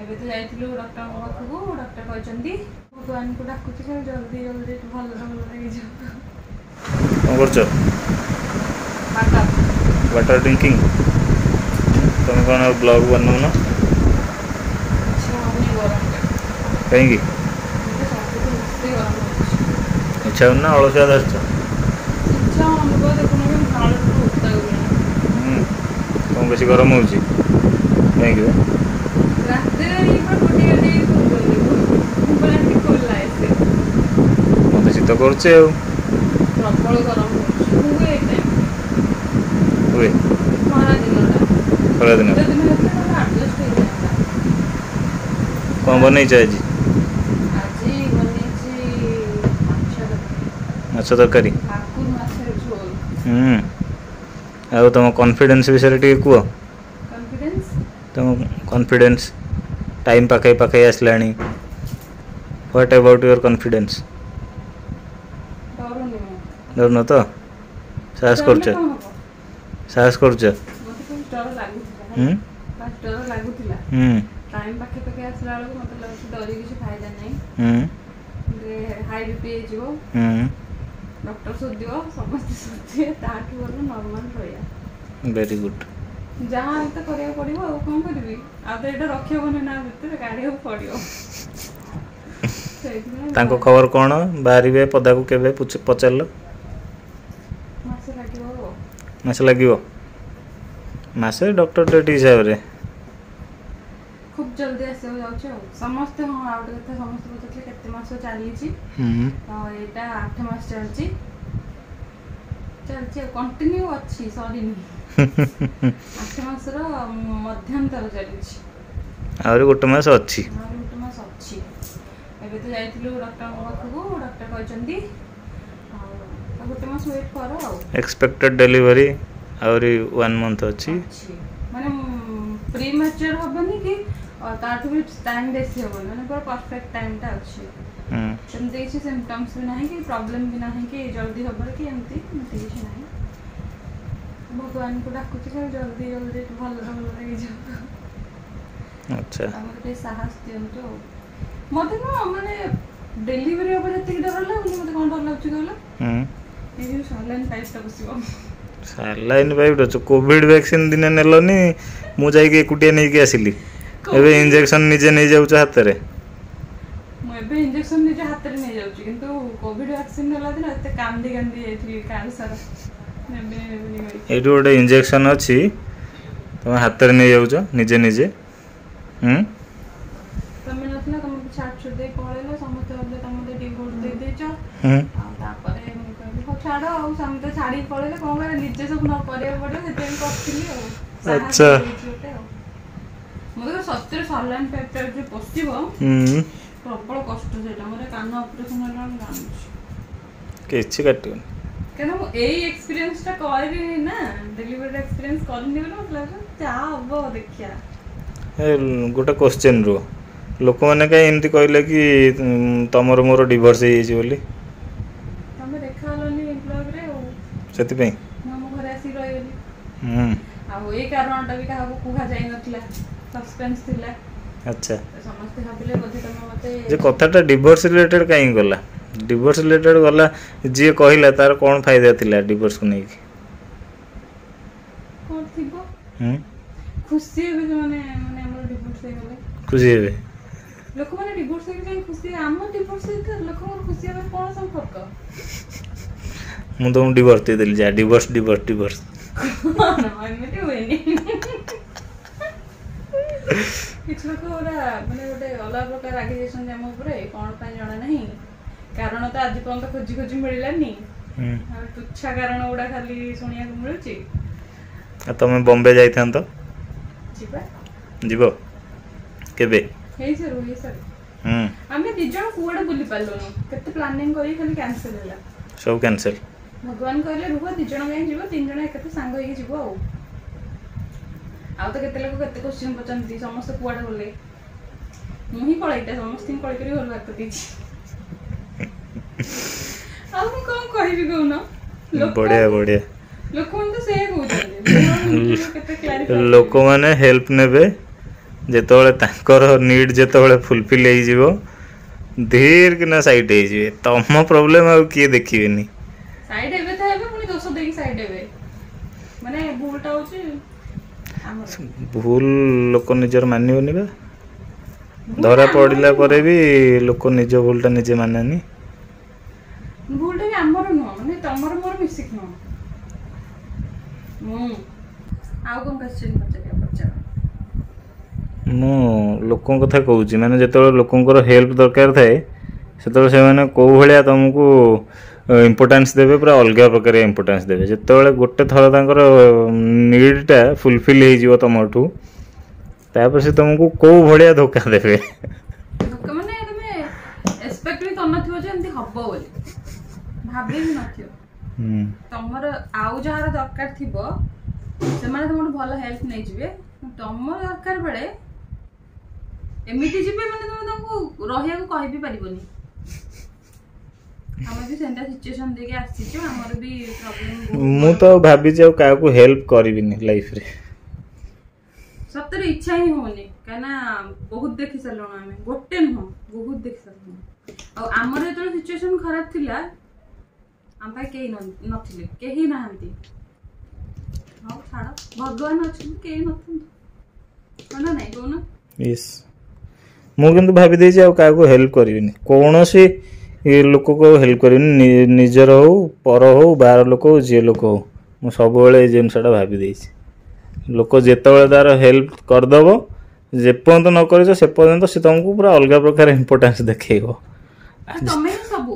ଏବେ ତ ଯାଇଥିଲୁ ଡକ୍ଟରଙ୍କ ପାଖକୁ। ଡକ୍ଟର କହିଛନ୍ତି, ଭଗବାନଙ୍କୁ ଡାକୁଛି ଖାଲି ଜଲ୍ଦି ଜଲ୍ଦି ଭଲରେ ଭଲରେ ହେଇଯିବ। କ'ଣ କରୁଛ? ବାଟ। Water drinking. ତମେ କ'ଣ ଆଉ ବ୍ଲଗ୍ ବନଉନ? ଇଚ୍ଛା ହଉନି ଗରମରେ। କାହିଁକି? ମତେ ସବୁଠୁ ବେଶୀ ଗରମ ହଉଛି। ଇଚ୍ଛା ହଉନି ନା ଅଳସୁଆ ଧରିଛ? ଇଚ୍ଛା ହଉନି ବା, ଦେଖୁନ କି ଝାଳରେ ପୁରା ଓଦା ହେଇଗଲାଣି। ହୁଁ, ତମକୁ ବେଶୀ ଗରମ ହେଉଛି କାହିଁକି ବେ? ରାତିରେ ଇଏ ପୁରା କୁଟି କାଟି ଶୋଉଛନ୍ତି, ମୁଁ ପୁରା ଏମିତି ଖୋଲା ଏସି। ମୋତେ ଶୀତ କରୁଛି ଆଉ। ପ୍ରବଳ ଗରମ ହଉଛି, ହୁଏ ଏ ଟାଇମ୍। ହୁଏ। ଖରା ଦିନଟା। ଖରା ଦିନ। ଶୀତ ଦିନ ହେଇଥିଲେ ତାହେଲେ ଆଡଜଷ୍ଟ ହେଇଯାନ୍ତା। କ'ଣ ବନେଇଛ ଆଜି? ଆଜି ବନେଇଛି ମାଛ ତରକାରୀ। ମାଛ ତରକାରୀ। ଭାକୁର ମାଛର ଝୋଲ। ହୁଁ, ଆଉ ତମ କନଫିଡେନ୍ସ ବିଷୟରେ ଟିକେ କୁହ। କନଫିଡେନ୍ସ? ତମ କନଫିଡେନ୍ସ, ଟାଇମ୍ ପାଖେଇ ପାଖେଇ ଆସିଲାଣି। What about your confidence? ଡରୁନି ମୁଁ। ଡରୁନ ତ? ସାହସ କରୁଛ? ଡରିଲେ କଣ ହବ? ସାହସ କରୁଛ? ମତେ ଫାଷ୍ଟ ଡର ଲାଗୁଥିଲା। ହୁଁ। ଫାଷ୍ଟ ଡର ଲାଗୁଥିଲା। ଟାଇମ୍ ପାଖେ ପାଖେ ଆସିଲା ବେଳକୁ ମତେ ଲାଗୁଛି ଡରି କିଛି ଫାଇଦା ନାହିଁ। ହାଇ ବିପି ହେଇଯିବ, ଡକ୍ଟର ଶୋଧିବ, ସମସ୍ତେ ଶୋଧିବେ। ତାଠୁ ଭଲ ନର୍ମାଲ ରହିବା। Very good. ଯାହା ହେଲେ ତ କରିବାକୁ ପଡିବ, ଆଉ କଣ କରିବି? ଆଉ ତ ଏଇଟା ରଖିହବନି ନା, ଭିତରେ କାଢିବାକୁ ପଡିବ, ସେଇଥିପାଇଁ। ତାଙ୍କ ଖବର କ'ଣ? ବାହାରିବେ ପଦାକୁ କେବେ ପଚାରିଲ? ମାସେ ଲାଗିବ ଆଉ। ମାସେ ଲାଗିବ? ମାସେ ଡକ୍ଟର ଡେଟ୍ ହିସାବରେ। ଖୁବ୍ ଜଲ୍ଦି ଆସିବାକୁ ଯାଉଛି ଆଉ ସମସ୍ତେ। ହଁ, ଆଉ ଗୋଟେ କଥା, ସମସ୍ତେ ପଚାରୁଥିଲେ କେତେ ମାସ ଚାଲିଛି। ତ ଏଇଟା 8 ମାସ ଚାଲିଛି, ଚାଲିଛି ଆଉ କଣ୍ଟିନ୍ୟୁ ଅଛି, ସରିନି। 8 ମାସର ମଧ୍ୟାନ୍ତର ଚାଲିଛି। ଆହୁରି ଗୋଟେ ମାସ ଅଛି। ଆହୁରି ଗୋଟେ ମାସ ଅଛି। ଏବେ ତ ଯାଇଥିଲୁ ଡକ୍ଟରଙ୍କ ପାଖକୁ। ଡକ୍ଟର କହିଛନ୍ତି ଆଉ ଆଉ ଗୋଟେ ମାସ ୱେଟ୍ କର ଆଉ। ଏକ୍ସପେକ୍ଟେଡ୍ ଡେଲିଭରି ଆହୁରି ୱାନ୍ ମନ୍ଥ ଅଛି। ଅଛି, ମାନେ ପ୍ରି ମ୍ୟାଚୁର ହବନି କି ତାଠୁ ବି ଟାଇମ୍ ବେଶୀ ହବନି, ମାନେ ପୁରା ପରଫେକ୍ଟ ଟାଇମ୍ଟା ଅଛି। ସେମିତି କିଛି ସିମ୍ପଟମ୍ସ ବି ନାହିଁ କି ପ୍ରୋବ୍ଲେମ୍ ବି ନାହିଁ କି ଜଲ୍ଦି ହବାର କି ଏମିତି ଏମିତି କିଛି ନାହିଁ। ଭଗବାନଙ୍କୁ ଡାକୁଛି ଖାଲି ଜଲ୍ଦି ଜଲ୍ଦି ଭଲରେ ଭଲରେ ହେଇଯିବ। ଆଉ ମୋତେ ଟିକେ ସାହସ ଦିଅନ୍ତୁ। ଆଉ ମତେ ନୁହଁ, ମାନେ ଡେଲିଭରି ହବ ଯେତିକି ଡର ଲାଗୁନି, ମତେ କଣ ଡର ଲାଗୁଛି କହିଲ? ଏଇ ଯୋଉ ସାଲାଇନ୍ ପାଇପ୍ଟା ବସିବ। ସାଲାଇନ୍ ପାଇପ୍ ଅଛି। କୋଭିଡ୍ ଭ୍ୟାକ୍ସିନ୍ ଦିନେ ନେଲନି, ମୁଁ ଯାଇକି ଏକୁଟିଆ ନେଇକି ଆସିଲି। ଏବେ ଇଞ୍ଜେକ୍ସନ୍ ନିଜେ ନେଇଯାଉଛ ହାତରେ। ମୁଁ ଏବେ ଇଞ୍ଜେକ୍ସନ ନିଜ ହାତରେ ନେଇଯାଉଛି, କିନ୍ତୁ କୋଭିଡ ଭ୍ୟାକ୍ସିନ ନେଲା ଦିନ ଏତେ କାନ୍ଦି କାନ୍ଦି ଯାଇଥିଲି କାର ସାରା, ନେବିନି ନେବିନି କହିକି। ଏଇଠି ଗୋଟେ ଇଞ୍ଜେକ୍ସନ୍ ଅଛି, ତମେ ହାତରେ ନେଇଯାଉଛ ନିଜେ ନିଜେ। ହୁଁ। ତମେ ନଥିଲ, ତମକୁ ଛାଡି ଛୁଡ଼ି ଦେଇ ପଳେଇଲ। ସମସ୍ତେ ଭାବିଲେ ତମେ ମତେ ଡିଭୋର୍ସ ଦେଇ ଦେଇଛ। ଆଉ ତାପରେ ମୁଁ କହିଲି, ହଉ ଛାଡ, ଆଉ ସମସ୍ତେ ଛାଡିକି ପଳେଇଲେ କଣ କରିବା, ନିଜେ ସବୁ ନ କରିବାକୁ ପଡିବ। ସେଥିପାଇଁ କରିଥିଲି ଆଉ ସାହସ ହେଇଯାଇଛି ଗୋଟେ। ଆଉ ମୁଁ ତ ସତରେ ସଲାଇନ୍ ପାଇପଟା ଯୋଉ ପଶିବ, ପ୍ରବଳ କଷ୍ଟ ସେଇଟା। ମୋର କାନ ଅପରେସନ ହେଲା, ମୁଁ ଜାଣୁଛି। କିଛି କାଟିବନି। କାହିଁକିନା ମୁଁ ଏଇ ଏକ୍ସପିରିଏନ୍ସ ଟା କରିନି ନା, ଡେଲିଭରି ଏକ୍ସପିରିଏନ୍ସ କରିନି ବୋଲି ମତେ ଲାଗୁଛି ଯାହା ହବ ଦେଖିବା। ଏ ଗୋଟେ କୋଶ୍ଚିନ୍ ରୁହ, ଲୋକମାନେ କାହିଁ ଏମିତି କହିଲେ କି ତମର ମୋର ଡିଭୋର୍ସ ହେଇଯାଇଛି ବୋଲି? ତମେ ଦେଖା ହେଲନି ବ୍ଲଗରେ ଆଉ। ସେଥିପାଇଁ? ମୁଁ ଆମ ଘରେ ଆସିକି ରହିଗଲି। ଆଉ ଏଇ କାରଣଟା ବି କାହାକୁ କୁହାଯାଇ ନଥିଲା, ସସ୍ପେନ୍ସ ଥିଲା। ତ ସମସ୍ତେ ଭାବିଲେ ବୋଧେ ତମେ ମତେ ଯେ କଥାଟା ଡିଭୋର୍ସ ରିଲେଟେଡ୍ କାହିଁକି ଗଲା? ଡିଭୋର୍ସ ରିଲେଟେଡ୍ ଗଲା, ଯିଏ କହିଲା ତାର କ'ଣ ଫାଇଦା ଥିଲା ଡିଭୋର୍ସକୁ ନେଇକି? କଣ ଥିବ? ହୁଁ। ଖୁସି ହେବେ ସେମାନେ, ମାନେ ଆମର ଡିଭୋର୍ସ ହେଇଗଲେ। ଖୁସି ହେବେ? ଲୋକମାନେ ଡିଭୋର୍ସ ହେଇକି କାହିଁ ଖୁସି ହେବେ? ଆମ ଡିଭୋର୍ସ ହେଇକି ଲୋକଙ୍କର ଖୁସି ହେବାର କଣ ସମ୍ପର୍କ? ମୁଁ ତମକୁ ଡିଭୋର୍ସ ଦେଇଦେଲି, ଯା, ଡିଭୋର୍ସ ଡିଭୋର୍ସ ଡିଭୋର୍ସ। କଣ ଏମିତି ହୁଏନି। କିଛି ଲୋକ ପୁରା ମାନେ ଗୋଟେ ଅଲଗା ପ୍ରକାର ରାଗି ଯାଇଛନ୍ତି ଆମ ଉପରେ, କଣ ପାଇଁ ଜଣା ନାହିଁ। କାରଣ ତ ଆଜି ପର୍ଯ୍ୟନ୍ତ ଖୋଜି ଖୋଜି ମିଳିଲାନି। ଆଉ ତୁଚ୍ଛା କାରଣ ଗୁଡା ଖାଲି ଶୁଣିବାକୁ ମିଳୁଛି। ଆଉ ତମେ ବମ୍ବେ ଯାଇଥାନ୍ତ? ଯିବା। ଯିବ କେବେ? ହେଇସାରୁ, ହେଇସାରୁ। ଆମେ ଦି ଜଣ କୁଆଡେ ବୁଲି ପାରିଲୁନୁ। କେତେ ପ୍ଲାନିଂ କରି ଖାଲି କ୍ୟାନସେଲ ହେଲା। ସବୁ କ୍ୟାନସେଲ। ଭଗବାନ କହିଲେ, ରୁହ, ଦି ଜଣ କାହିଁ ଯିବ, ତିନି ଜଣ ଏକାଥରେ ସାଙ୍ଗ ହେଇକି ଯିବ। ଆଉ ଆଉ ତ କେତେ ଲୋକ କେତେ କୋଶ୍ଚିନ୍ ପଚାରନ୍ତି, ସମସ୍ତେ କୁଆଡେ ଗଲେ? ମୁଁ ହିଁ ପଳେଇଟା ସମସ୍ତଙ୍କୁ କଳି କରି ଘରୁ ବାହାର କରିଦେଇଛି। ଆଉ ମୁଁ କଣ କହିବି କହୁନ? ଲୋକ ବଢିଆ ବଢିଆ। ଲୋକମାନେ ତ ସେଇଆ କହୁଛନ୍ତି। ମୁଁ ଆଉ ନିଜକୁ କେତେ କ୍ଲାରିଫାଇ କରିବି? ଲୋକମାନେ ହେଲ୍ପ ନେବେ ଯେତେବେଳେ ତାଙ୍କର ନିଡ୍ ଯେତେବେଳେ ଫୁଲଫିଲ୍ ହେଇଯିବ, ଧୀର କିନା ସାଇଡ୍ ହେଇଯିବେ। ତମ ପ୍ରୋବ୍ଲେମ୍ ଆଉ କିଏ ଦେଖିବେନି। ସାଇଡ୍ ହେବେ ତ ହେବେ, ପୁଣି ଦୋଷ ଦେଇକି ସାଇଡ୍ ହେବେ। ମାନେ ଭୁଲଟା ହଉଛି ଆମର। ଭୁଲ ଲୋକ ନିଜର ମାନିବନି ବା। ଭୁଲଟା ଧରା ଆମର ପଡ଼ିଲା ବି ପରେ ନୁହଁ। ବି ଲୋକ ନିଜ ଭୁଲଟା ନିଜେ ମାନେନି। ଭୁଲଟା ବି ଆମର ନୁହଁ, ମାନେ ତମର ମୋର ମିଶିକି ନୁହଁ। ମୁଁ ଆଉ କଣ କ୍ୱେଶ୍ଚନ ପଚାରିବା, ପଚାର। ମୁଁ ଲୋକଙ୍କ କଥା କହୁଛି, ମାନେ ଯେତେବେଳେ ଲୋକଙ୍କର ହେଲ୍ପ ଦରକାର ଥାଏ, ସେତେବେଳେ ସେମାନେ କୋଉ ଭଳିଆ ତମକୁ ଇମ୍ପୋର୍ଟାନ୍ସ ଦେବେ, ପୁରା ଅଲଗା ପ୍ରକାର ଇମ୍ପୋର୍ଟାନ୍ସ ଦେବେ। ଯେତେବେଳେ ଗୋଟେ ଥର ତାଙ୍କର ନିଡ୍ଟା ଫୁଲଫିଲ୍ ହେଇଯିବ ତମଠୁ, ତାପରେ ସେ ତମକୁ କୋଉ ଭଳିଆ ଧୋକା ଦେବେ। ଧୋକା ମାନେ ତମେ ଏକ୍ସପେକ୍ଟ ବି କରିନଥିବ ଯେ ଏମିତି ହବ ବୋଲି, ଭାବି ବି ନଥିବ। ତମର ଆଉ ଯାହାର ଦରକାର ଥିବ ସେମାନେ ତମଠୁ ଭଲ ହେଲ୍ପ ନେଇଯିବେ, ତମର ଦରକାର ବେଳେ ଏମିତି ଯିବେ ମାନେ ତମେ ତାଙ୍କୁ ରହିବାକୁ କହିବି ପାରିବନି। ଆମେ ବି ସେମିତିଆ ସିଚୁଏସନ ଦେଇକି ଆସିଛୁ, ଆମର ବି ପ୍ରୋବ୍ଲେମ। ମୁଁ ତ ଭାବିଛି ଆଉ କାହାକୁ ହେଲ୍ପ କରିବିନି ଲାଇଫରେ। ସତରେ ଇଚ୍ଛା ହିଁ ହଉନି, କାହିଁକିନା ବହୁତ ଦେଖି ସାରିଲୁଣୁ ଆମେ, ଗୋଟେ ନୁହଁ ବହୁତ ଦେଖି ସାରିଲୁଣୁ। ଆଉ ଆମର ଯେତେବେଳେ ସିଚୁଏସନ ଖରାପ ଥିଲା, ଆମ ପାଇଁ କେହି ନଥିଲେ, କେହି ନାହାନ୍ତି। ହଉ ଛାଡ଼, ଭଗବାନ ଅଛନ୍ତି, କେହି ନଥାନ୍ତୁ। ହଁ ନା ନାଇଁ କହୁନ? ୟେସ୍, ମୁଁ କିନ୍ତୁ ଭାବି ଦେଇଛି ଆଉ କାହାକୁ ହେଲ୍ପ କରିବିନି, କୌଣସି ଲୋକକୁ ଆଉ ହେଲ୍ପ କରିବିନି, ନିଜର ହଉ, ପର ହଉ, ବାହାର ଲୋକ ହଉ, ଯିଏ ଲୋକ ହଉ। ମୁଁ ସବୁବେଳେ ଏଇ ଜିନିଷଟା ଭାବି ଦେଇଛି, ଲୋକ ଯେତେବେଳେ ତାର ହେଲ୍ପ କରିଦବ, ଯେପର୍ଯ୍ୟନ୍ତ ନ କରିଛ ସେ ପର୍ଯ୍ୟନ୍ତ ସେ ତମକୁ ପୁରା ଅଲଗା ପ୍ରକାର ଇମ୍ପୋର୍ଟାନ୍ସ ଦେଖେଇବ। ତମେ ହିଁ ସବୁ,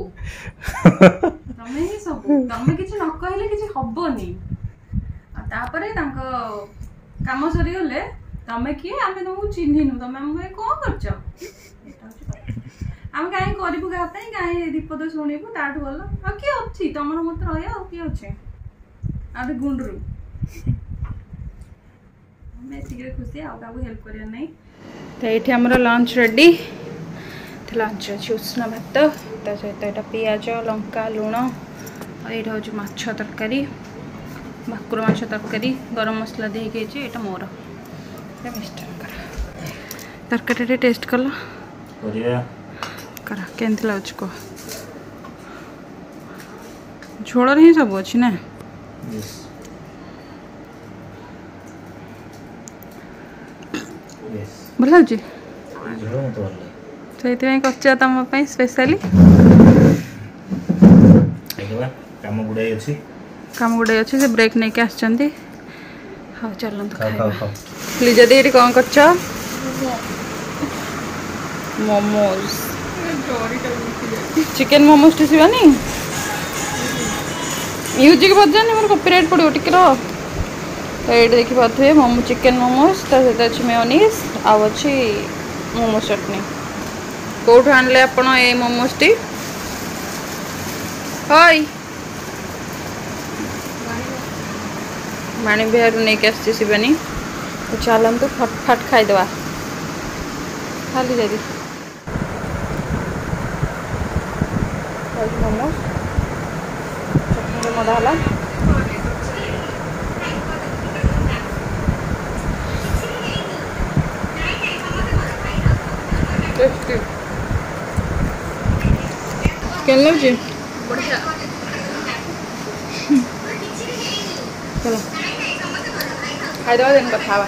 ତମେ ହିଁ ସବୁ, ତମେ କିଛି ନ କହିଲେ କିଛି ହବନି। ଆଉ ତାପରେ ତାଙ୍କ କାମ ସରିଗଲେ ତମେ କିଏ, ଆମେ ତମକୁ ଚିହ୍ନିନୁ, ତମେ ଆମ ପାଇଁ କଣ କରିଛ, ଏଇଟା ହଉଛି କଥା। ଆମେ କାହିଁ କରିବୁ କାହା ପାଇଁ, କାହିଁ ବିପଦ ଶୁଣିବୁ, ତାଠୁ ଭଲ ଆଉ କିଏ ଅଛି, ତମର ମତେ ରହିବା ଆଉ କିଏ ଅଛି, ଆଉ ଗୋଟେ ଗୁଣ୍ଡରୁ। ଆମେ ଏତିକିରେ ଖୁସି, ଆଉ କାହାକୁ ହେଲ୍ପ କରିବାର ନାହିଁ। ତ ଏଇଠି ଆମର ଲଞ୍ଚ ରେଡି। ଲଞ୍ଚ ଅଛି ଉଷୁନା ଭାତ, ତା ସହିତ ଏଇଟା ପିଆଜ, ଲଙ୍କା, ଲୁଣ, ଆଉ ଏଇଟା ହେଉଛି ମାଛ ତରକାରୀ, ଭାକୁର ମାଛ ତରକାରୀ ଗରମ ମସଲା ଦେଇକି ହେଇଛି। ଏଇଟା ମୋର, ଏଇଟା ମିଷ୍ଟରଙ୍କର। ତରକାରୀଟା ଟିକେ ଟେଷ୍ଟ କଲ କର, କେମିତି ଲାଗୁଛି କୁହ। ଝୋଳରେ ହିଁ ସବୁ ଅଛି ନା? ଭଲ ଲାଗୁଛି, ସେଇଥିପାଇଁ କରିଛ ତମ ପାଇଁ ସ୍ପେଶାଲି। କାମ ଗୁଡ଼ାଏ ଅଛି, କାମ ଗୁଡ଼ାଏ ଅଛି, ସେ ବ୍ରେକ୍ ନେଇକି ଆସିଛନ୍ତି। ହଉ ଚାଲନ୍ତୁ ଖାଇବା। ଲିଜା ଦି ଏଠି କ'ଣ କରୁଛ? ମୋମୋଜ, ଚିକେନ ମୋମୋଜ ଟି ଶିବାନୀ। ମ୍ୟୁଜିକ୍ ବଜାନି, ମୋର କପିରାଇଟ୍ ପଡ଼ିବ, ଟିକେ ରହ। ତ ଏଇଠି ଦେଖିପାରୁଥିବେ ମୋମୋ, ଚିକେନ ମୋମୋଜ, ତା ସହିତ ଅଛି ମେୟୋନିଜ୍ ଆଉ ଅଛି ମୋମୋ ଚଟଣି। କେଉଁଠୁ ଆଣିଲେ ଆପଣ ଏଇ ମୋମୋଜଟି? ହଇ ବାଣୀବିହାରରୁ ନେଇକି ଆସିଛି ଶିବାନୀ। ତ ଚାଲନ୍ତୁ ଫଟଫଟ ଖାଇଦେବା। ଖାଲି ଯଦି ମୋମୋ ଚଟଣିରେ ମଜା ହେଲା। ଟେଷ୍ଟି। କେମିତି ଲାଗୁଛି? ବଢ଼ିଆ। ଚାଲ ଖାଇଦେବା, ଦେନ୍ କଥା ହେବା।